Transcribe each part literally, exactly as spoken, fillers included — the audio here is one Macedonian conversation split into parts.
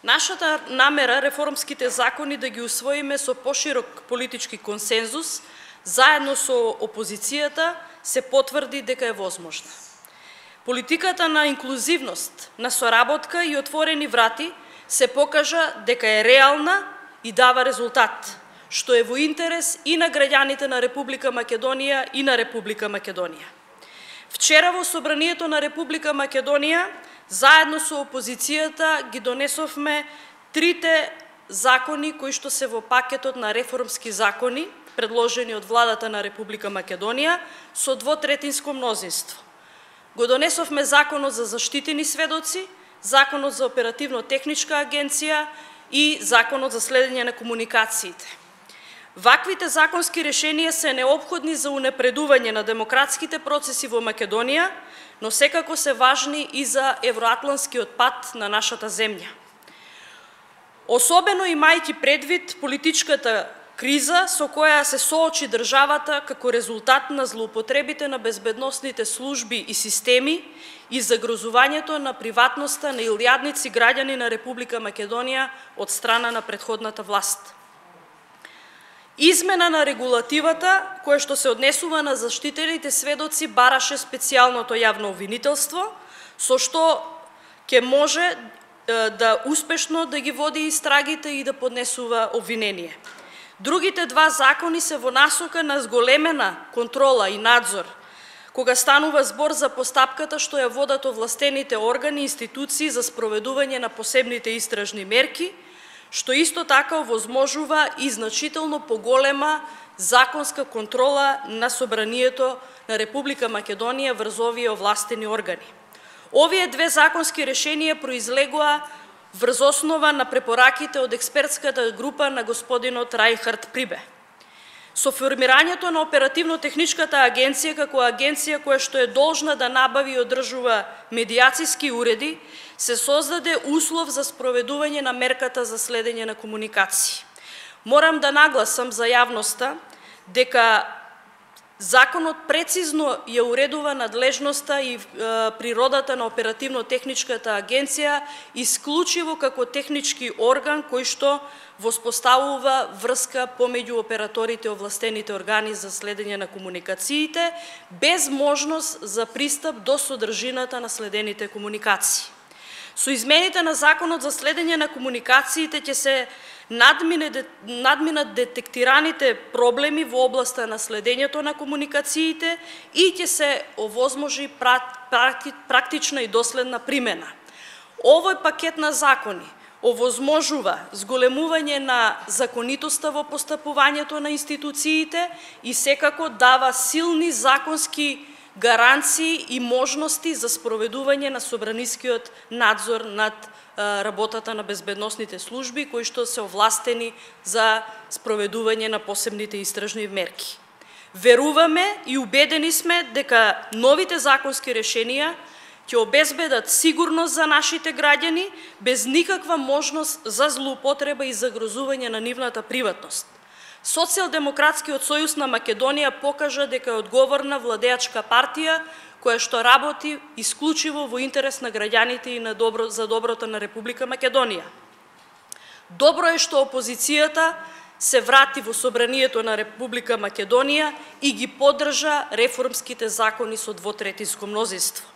Нашата намера реформските закони да ги усвоиме со поширок политички консензус, заедно со опозицијата, се потврди дека е возможна. Политиката на инклузивност, на соработка и отворени врати се покажа дека е реална и дава резултат, што е во интерес и на граѓаните на Република Македонија и на Република Македонија. Вчера во Собранието на Република Македонија, заедно со опозицијата, ги донесовме трите закони кои што се во пакетот на реформски закони, предложени од владата на Република Македонија, со двотретинско мнозинство. Го донесовме Законот за заштитени сведоци, Законот за оперативно-техничка агенција и Законот за следење на комуникациите. Ваквите законски решенија се неопходни за унапредување на демократските процеси во Македонија, но секако се важни и за евроатланскиот пат на нашата земја. Особено имајќи предвид политичката криза со која се соочи државата како резултат на злоупотребите на безбедносните служби и системи и загрозувањето на приватноста на илјадници граѓани на Република Македонија од страна на претходната власт. Измена на регулативата, која што се однесува на заштитените сведоци, бараше специјалното јавно обвинителство, со што ќе може да успешно да ги води истрагите и да поднесува обвинение. Другите два закони се во насока на зголемена контрола и надзор, кога станува збор за постапката што ја водат овластените органи и институции за спроведување на посебните истражни мерки, што исто така овозможува и значително поголема законска контрола на Собранието на Република Македонија врз овие овластени органи. Овие две законски решенија произлегоа врз основа на препораките од експертската група на господинот Рајнхард Прибе. Со формирањето на оперативно-техничката агенција како агенција која што е должна да набави и одржува медиациски уреди, се создаде услов за спроведување на мерката за следење на комуникации. Морам да нагласам за јавноста дека законот прецизно ја уредува надлежноста и е, природата на оперативно-техничката агенција исклучиво како технички орган кој што воспоставува врска помеѓу операторите и овластените органи за следење на комуникациите, без можност за пристап до содржината на следените комуникации. Со измените на Законот за следење на комуникациите ќе се надминат детектираните проблеми во областа на следењето на комуникациите и ќе се овозможи практична и доследна примена. Овој пакет на закони овозможува зголемување на законитоста во постапувањето на институциите и секако дава силни законски гаранции и можности за спроведување на собранискиот надзор над работата на безбедносните служби, кои што се овластени за спроведување на посебните истражни мерки. Веруваме и убедени сме дека новите законски решенија ќе обезбедат сигурност за нашите граѓани, без никаква можност за злоупотреба и загрозување на нивната приватност. Социјалдемократскиот сојуз на Македонија покажа дека е одговорна владеачка партија, која што работи исклучиво во интерес на граѓаните и на добро, за доброто на Република Македонија. Добро е што опозицијата се врати во Собранието на Република Македонија и ги поддржа реформските закони со двотретинско мнозинство.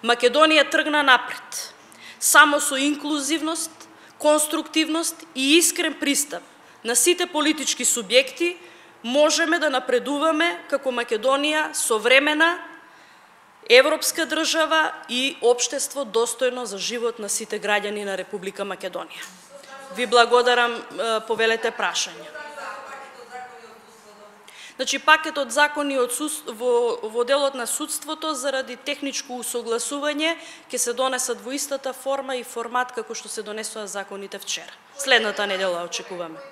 Македонија тргна напред. Само со инклузивност, конструктивност и искрен пристап на сите политички субјекти можеме да напредуваме како Македонија современа европска држава и општество достојно за живот на сите граѓани на Република Македонија. Ви благодарам, повелете прашање. Значи, пакетот закони од суд, во, во делот на судството заради техничко усогласување ќе се донесат во истата форма и формат како што се донесоа законите вчера. Следната недела очекуваме.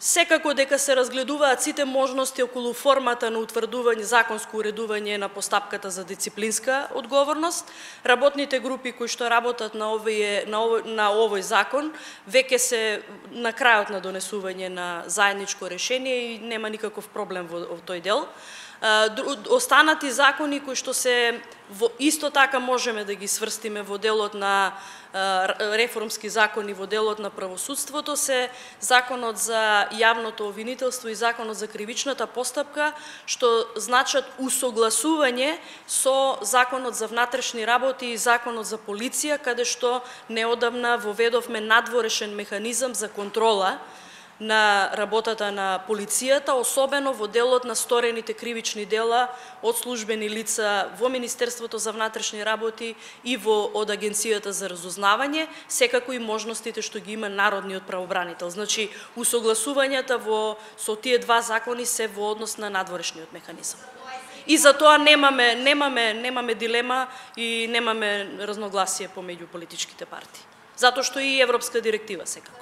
Секако дека се разгледуваат сите можности околу формата на утврдување, законско уредување на постапката за дисциплинска одговорност. Работните групи кои што работат на овој, на овој, на овој закон веќе се на крајот на донесување на заедничко решение и нема никаков проблем во, во тој дел. Останати закони кои што се во, исто така можеме да ги сврстиме во делот на реформски закони, во делот на правосудството се законот за јавното обвинителство и законот за кривичната постапка, што значат усогласување со законот за внатрешни работи и законот за полиција, каде што неодамна воведовме надворешен механизам за контрола на работата на полицијата, особено во делот на сторените кривични дела од службени лица во Министерството за внатрешни работи и во од Агенцијата за разузнавање, секако и можностите што ги има народниот правобранител. Значи, усогласувањата во со тие два закони се во однос на надворешниот механизам. И за тоа немаме немаме немаме дилема и немаме разногласие помеѓу политичките партии. Затоа што и европска директива секако.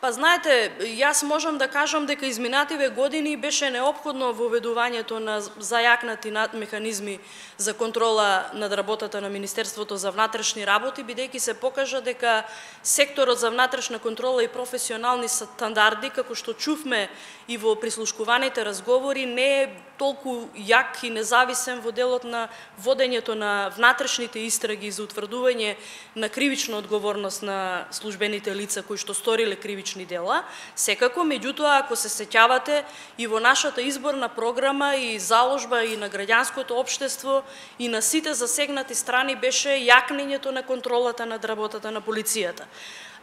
Па знаете, јас можам да кажам дека изминативе години беше неопходно воведувањето на зајакнати механизми за контрола над работата на Министерството за внатрешни работи, бидејќи се покажа дека секторот за внатрешна контрола и професионални стандарди, како што чувме и во прислушкуваните разговори, не е толку јак и независен во делот на водењето на внатрешните истраги за утврдување на кривична одговорност на службените лица кои што сториле кривични дела. Секако, меѓутоа, ако се сеќавате, и во нашата изборна програма и заложба и на граѓанското општество и на сите засегнати страни беше јакнењето на контролата над работата на полицијата.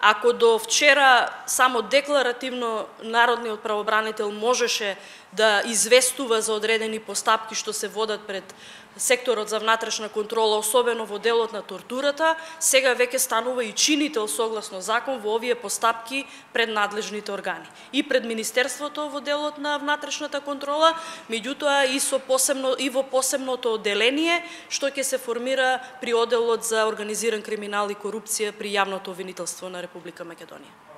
Ако до вчера само декларативно народниот правобранител можеше да известува за одредени постапки што се водат пред секторот за внатрешна контрола, особено во делот на тортурата, сега веќе станува и чинител согласно закон во овие постапки пред надлежните органи. И пред Министерството во делот на внатрешната контрола, меѓутоа и со посебно и во посебното одделение што ќе се формира при одделот за организиран криминал и корупција при јавното обвинителство на Република Македонија.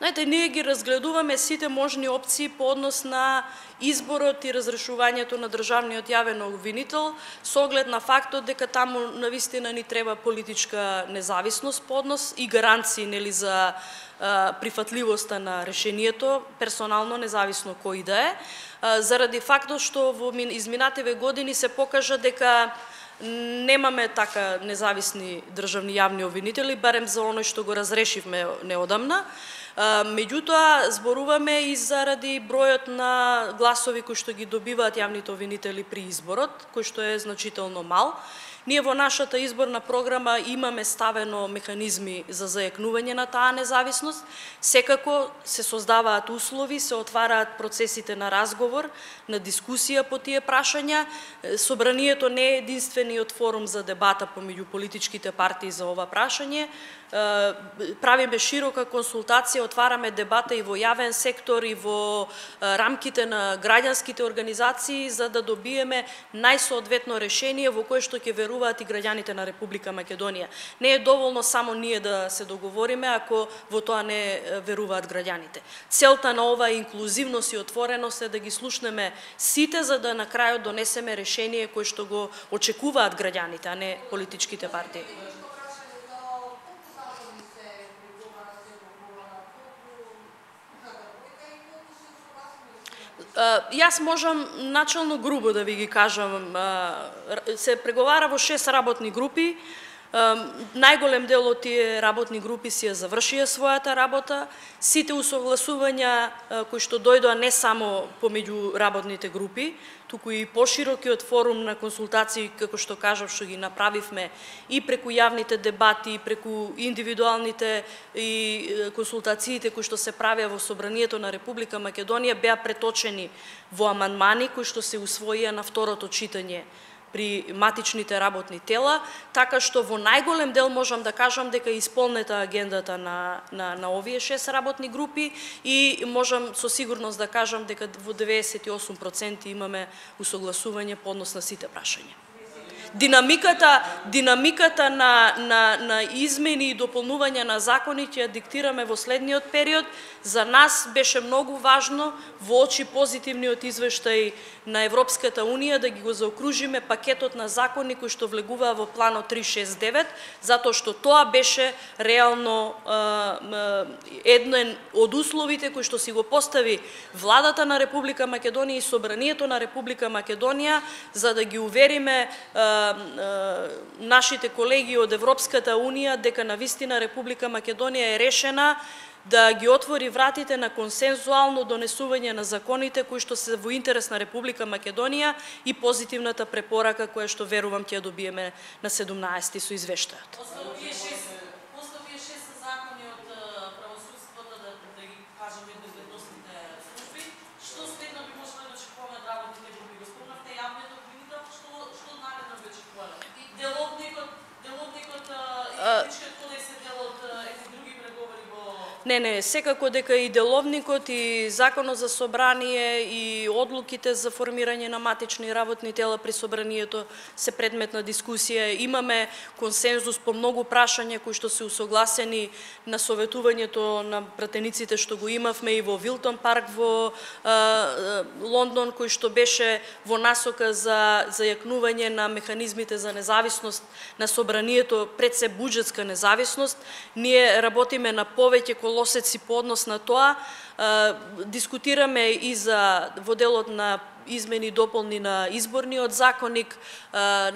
Знаете, ние ги разгледуваме сите можни опции по однос на изборот и разрешувањето на државниот јавен обвинител, со оглед на фактот дека таму навистина ни треба политичка независност по однос и гаранции, нели, за а, прифатливоста на решението, персонално независно кој да е, а, заради фактот што во изминативе години се покажа дека немаме така независни државни јавни обвинители, барем за оној што го разрешивме неодамна. Меѓутоа, зборуваме и заради бројот на гласови кои што ги добиваат јавните обвинители при изборот, кој што е значително мал. Ние во нашата изборна програма имаме ставено механизми за зајакнување на таа независност. Секако се создаваат услови, се отвараат процесите на разговор, на дискусија по тие прашања. Собранието не е единствениот форум за дебата помеѓу политичките партии за ова прашање. Правиме широка консултација, отвараме дебата и во јавен сектор и во рамките на граѓанските организации за да добиеме најсоодветно решение во кое што ќе веруваат и граѓаните на Република Македонија. Не е доволно само ние да се договориме ако во тоа не веруваат граѓаните. Целта на ова инклузивност и отвореност е да ги слушнеме сите за да на крајот донесеме решение кое што го очекуваат граѓаните, а не политичките партии. Јас можам начално грубо да ви ги кажам, се преговара во шест работни групи. Најголем дел од тие работни групи си ја завршија својата работа. Сите усогласувања кои што дојдоа не само помеѓу работните групи, туку и поширокиот форум на консултации, како што кажав, што ги направивме и преку јавните дебати, и преку индивидуалните и консултациите кои што се правеа во Собранието на Република Македонија, беа преточени во амандмани кои што се усвоија на второто читање при матичните работни тела, така што во најголем дел можам да кажам дека е исполнета агендата на, на, на овие шест работни групи и можам со сигурност да кажам дека во деветдесет и осум проценти имаме усогласување по однос на сите прашања. Динамиката, динамиката на, на, на измени и дополнување на законите ја диктираме во следниот период. За нас беше многу важно во очи позитивниот извештај на Европската Унија да ги го заокружиме пакетот на закони кои што влегуваа во планот три шест девет, затоа што тоа беше реално еден од условите кои што си го постави владата на Република Македонија и Собранието на Република Македонија за да ги увериме нашите колеги од Европската Унија дека навистина Република Македонија е решена да ги отвори вратите на консензуално донесување на законите кои што се во интерес на Република Македонија и позитивната препорака која што верувам ќе ја добиеме на седумнаесети со извештајот. Не, не, секако дека и деловникот и Законот за собрание и одлуките за формирање на матични работни тела при собранието се предмет на дискусија. Имаме консензус по многу прашања кои што се усогласени на советувањето на пратениците што го имавме и во Вилтон парк во а, Лондон, кој што беше во насока за зајакнување на механизмите за независност на собранието, пред се буџетска независност. Ние работиме на повеќе колосеци по однос на тоа. Дискутираме и за во делот на измени и дополни на изборниот законник,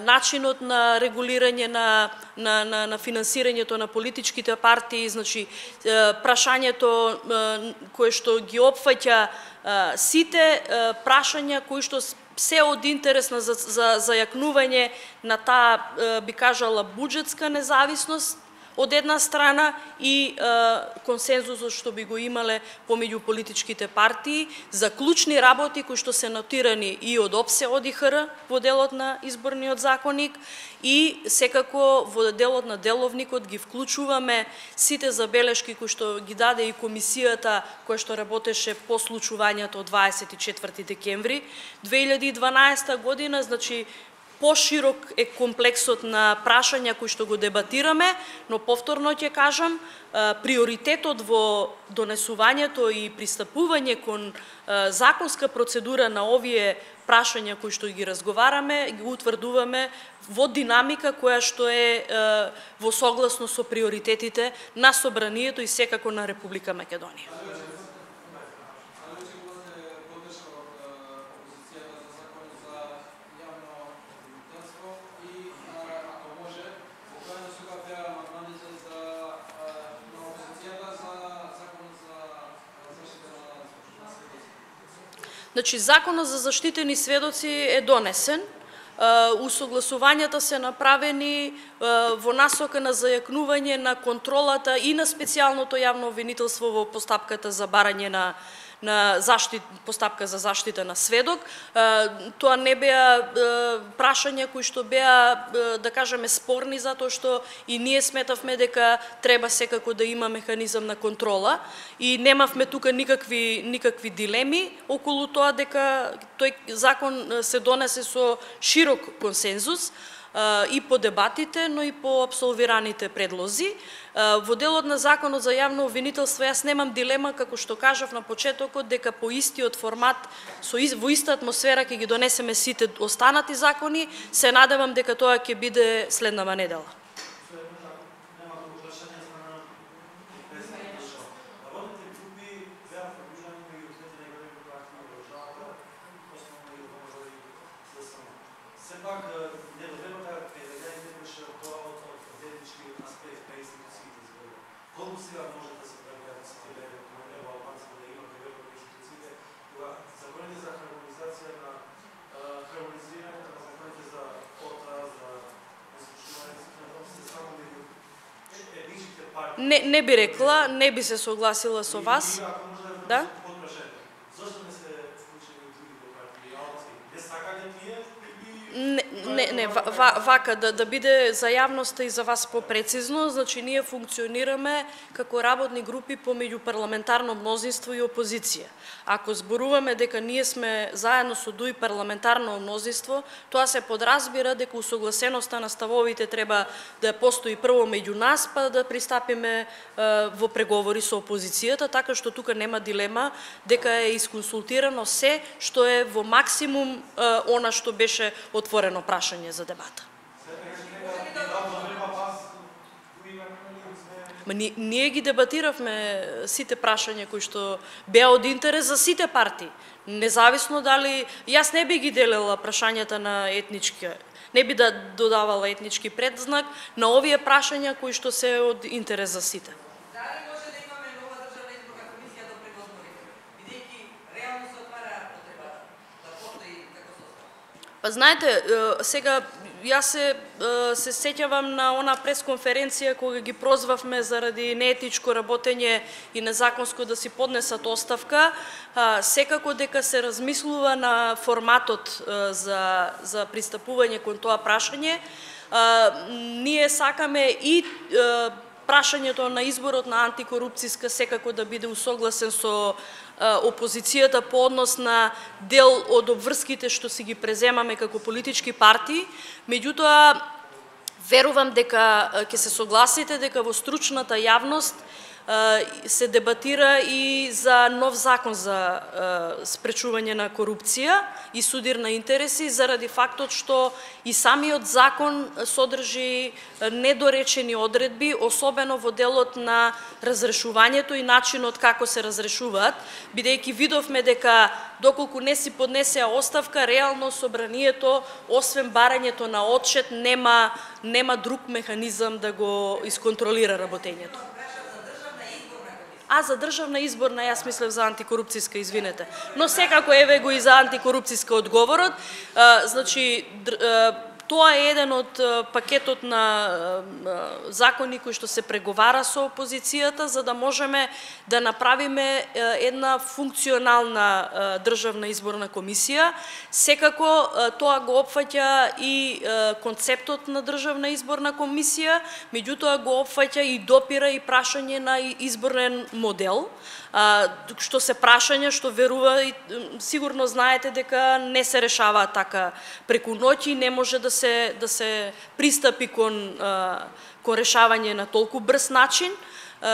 начинот на регулирање на, на, на, на финансирањето на политичките партии, значи прашањето кое што ги опфаќа сите прашања кои што се од интерес на за, за зајакнување на таа, би кажала, буџетска независност од една страна и е, консензусот што би го имале помеѓу политичките партии за клучни работи кои што се нотирани и од ОПСЕ од ИХР во делот на изборниот законник и секако во делот на деловникот ги вклучуваме сите забелешки кои што ги даде и комисијата која што работеше по случувањето од дваесет и четврти декември две илјади и дванаесета година, значи поширок е комплексот на прашања кои што го дебатираме, но повторно ќе кажам, приоритетот во донесувањето и пристапување кон законска процедура на овие прашања кои што ги разговараме, ги утврдуваме во динамика која што е во согласно со приоритетите на собранието и секако на Република Македонија. Значи, Законот за заштитени сведоци е донесен, усогласувањата се направени во насока на зајакнување на контролата и на специјалното јавно обвинителство во постапката за барање на на заштит, постапка за заштита на сведок. Тоа не беа прашања кои што беа, да кажеме, спорни, затоа што и ние сметавме дека треба секако да има механизам на контрола и немавме тука никакви никакви дилеми околу тоа дека тој закон се донесе со широк консензус и по дебатите, но и по абсолвираните предлози. Во делот на Законот за јавно обвинителство јас немам дилема, како што кажав на почетокот, дека по истиот формат, со во иста атмосфера ќе ги донесеме сите останати закони. Се надевам дека тоа ќе биде следнава недела. Не, не би рекла, не би се согласила со вас. Да? Не, не, не ва, вака, да, да биде за јавноста и за вас попрецизно, значи ние функционираме како работни групи помеѓу парламентарно мнозинство и опозиција. Ако зборуваме дека ние сме заедно со ДУИ парламентарно мнозинство, тоа се подразбира дека усогласеноста на ставовите треба да постои прво меѓу нас, па да пристапиме е, во преговори со опозицијата, така што тука нема дилема дека е исконсултирано се што е во максимум е, она што беше отворено прашање за дебата. Ма ние, ние ги дебатиравме сите прашања кои што беа од интерес за сите партии. Независно дали јас не би ги делела прашањата на етнички, не би да додавала етнички предзнак на овие прашања кои што се од интерес за сите. Дали може да имаме нова државна изборна комисија до пред изборите, бидејќи реално се отвара потреба да постои како состав? Па знаете, сега јас се, се сеќавам на она пресконференција кога ги прозвавме заради неетичко работење и незаконско да си поднесат оставка. Секако дека се размислува на форматот за, за пристапување кон тоа прашање. Ние сакаме и прашањето на изборот на антикорупцијска секако да биде усогласен со опозицијата по однос на дел од обврските што си ги преземаме како политички партии. Меѓутоа, верувам дека ќе се согласите дека во стручната јавност се дебатира и за нов закон за спречување на корупција и судир на интереси, заради фактот што и самиот закон содржи недоречени одредби, особено во делот на разрешувањето и начинот како се разрешуваат, бидејќи видовме дека доколку не си поднесеа оставка, реално собранието, освен барањето на отчет, нема, нема друг механизам да го исконтролира работењето. А, за државна изборна, јас мислев за антикорупцијска, извинете. Но секако еве го и за антикорупцијска одговорот. А, значи, тоа е еден од пакетот на закони кои што се преговара со опозицијата, за да можеме да направиме една функционална државна изборна комисија. Секако тоа го опфаќа и концептот на државна изборна комисија, меѓутоа го опфаќа и допира и прашање на изборен модел, што се прашања што верува и сигурно знаете дека не се решаваат така преку ноќ и не може да се да се пристапи кон кон решавање на толку брз начин,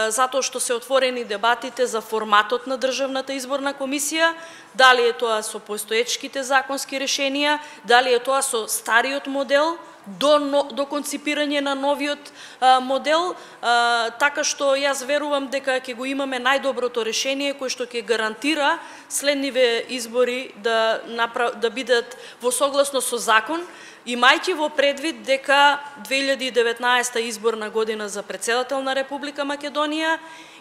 затоа што се отворени дебатите за форматот на државната изборна комисија, дали е тоа со постоечките законски решенија, дали е тоа со стариот модел, до, до конципирање на новиот а, модел, а, така што јас верувам дека ќе го имаме најдоброто решение кој што ќе гарантира следниве избори да, направ, да бидат во согласно со закон, имајќи во предвид дека две илјади и деветнаесета изборна година за претседател на Република Македонија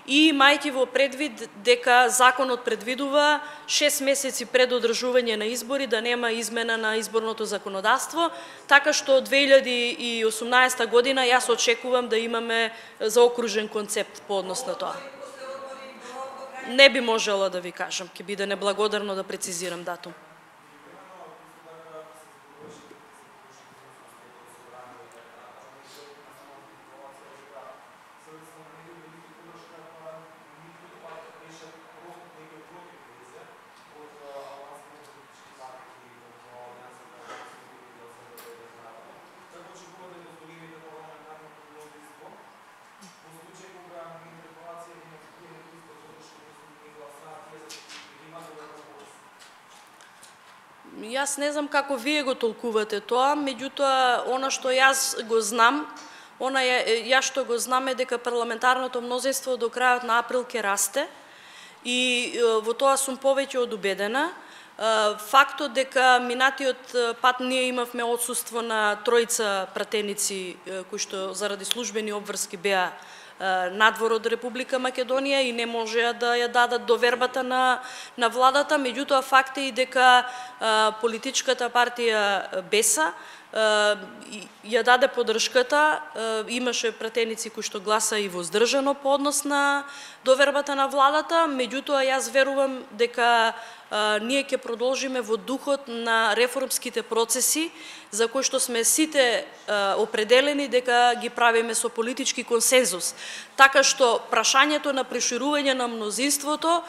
и имајќи во предвид дека законот предвидува шест месеци пред одржување на избори да нема измена на изборното законодавство, така што две илјади и осумнаесета година јас очекувам да имаме заокружен концепт по однос на тоа. Не би можела да ви кажам, ќе биде неблагодарно да прецизирам датум. Јас не знам како вие го толкувате тоа, меѓутоа, она што јас го знам, она е, јас што го знам е дека парламентарното мнозинство до крајот на април ќе расте и во тоа сум повеќе од убедена. Фактот дека минатиот пат ние имавме отсуство на тројца пратеници кои што заради службени обврски беа надвор од Република Македонија и не можеа да ја дадат довербата на, на владата, меѓутоа факт е и дека а, политичката партија Беса ја даде поддршката, имаше пратеници кои што гласа и воздржано по однос на довербата на владата, меѓутоа јас верувам дека ние ќе продолжиме во духот на реформските процеси за кои што сме сите определени дека ги правиме со политички консензус. Така што прашањето на проширување на мнозинството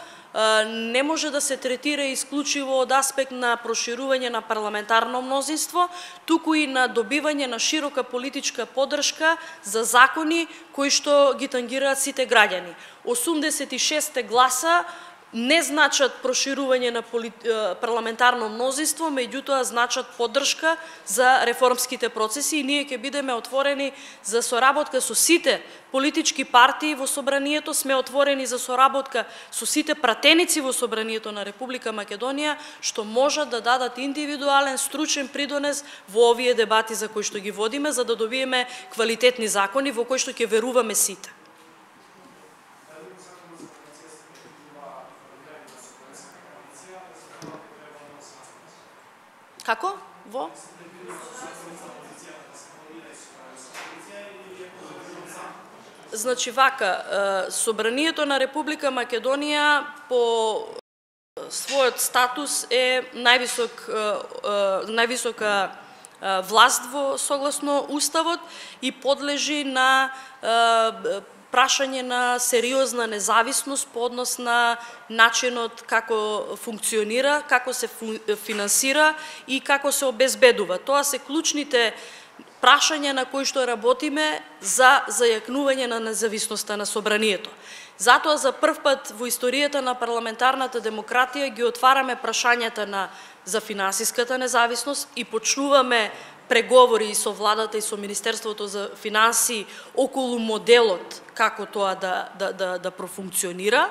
не може да се третира исклучиво од аспект на проширување на парламентарно мнозинство, туку и на добивање на широка политичка поддршка за закони кои што ги тангираат сите граѓани. осумдесет и шест гласа не значат проширување на парламентарно мнозинство, меѓутоа значат поддршка за реформските процеси и ние ќе бидеме отворени за соработка со сите политички партии во собранието, сме отворени за соработка со сите пратеници во собранието на Република Македонија, што можат да дадат индивидуален, стручен придонес во овие дебати за кои што ги водиме, за да добиеме квалитетни закони во кои што ќе веруваме сите. Како? Во? Значи вака, собранието на Република Македонија по својот статус е највисок, највисока власт во согласно Уставот и подлежи на прашање на сериозна независност по однос на начинот како функционира, како се финансира и како се обезбедува. Тоа се клучните прашања на кои што работиме за зајакнување на независноста на собранието. Затоа за прв пат во историјата на парламентарната демократија ги отвараме прашањата на за финансиската независност и почнуваме преговори и со владата и со Министерството за финансии околу моделот како тоа да, да, да, да профункционира.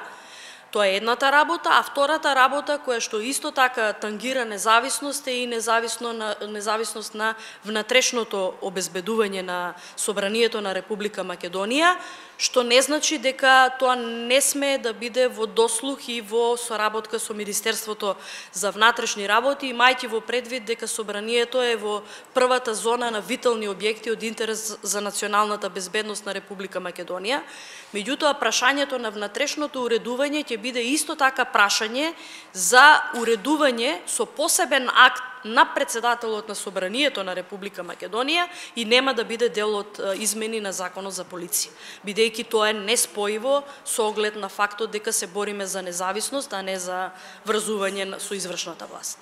Тоа е едната работа, а втората работа која што исто така тангира независност е и независно на, независност на внатрешното обезбедување на собранието на Република Македонија, што не значи дека тоа не сме да биде во дослух и во соработка со Министерството за внатрешни работи, имајќи во предвид дека собранието е во првата зона на витални објекти од интерес за националната безбедност на Република Македонија. Меѓутоа, прашањето на внатрешното уредување ќе биде исто така прашање за уредување со посебен акт на председателот на собранието на Република Македонија и нема да биде дел од измени на Законот за полиција, бидејќи тоа е неспоиво со оглед на фактот дека се бориме за независност, а не за врзување со извршната власт.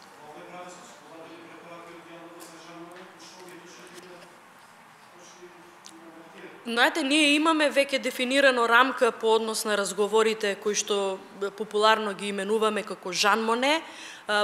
Знаете, ние имаме веќе дефинирано рамка по однос на разговорите кои што популарно ги именуваме како Жан Моне.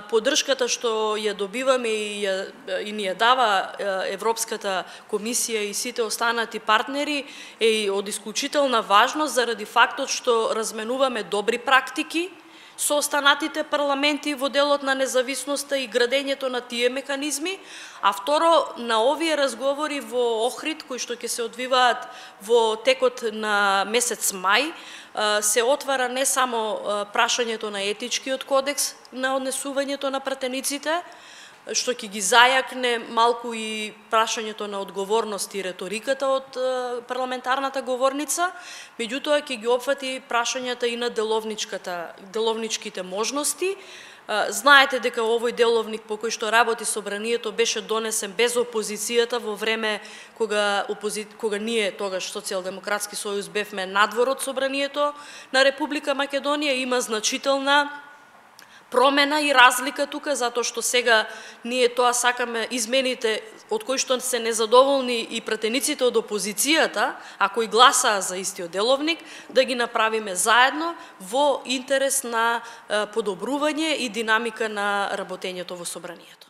Поддршката што ја добиваме и, ја, и ни ја дава Европската комисија и сите останати партнери е од исклучителна важност заради фактот што разменуваме добри практики со останатите парламенти во делот на независноста и градењето на тие механизми, а второ, на овие разговори во Охрид, кои што ќе се одвиваат во текот на месец мај, се отвара не само прашањето на етичкиот кодекс на однесувањето на пратениците, што ќе ги зајакне малку и прашањето на одговорност и реториката од парламентарната говорница, меѓутоа ќе ги опфати прашањата и на деловничката, деловничките можности. Знаете дека овој деловник по кој што работи собранието беше донесен без опозицијата во време кога, опози... кога ние, тогаш Социјалдемократски сојуз, бевме надвор од собранието на Република Македонија. Има значителна промена и разлика тука, затоа што сега ние тоа сакаме измените од кои што се незадоволни и пратениците од опозицијата, а кои гласаа за истиот деловник, да ги направиме заедно во интерес на подобрување и динамика на работењето во собранието.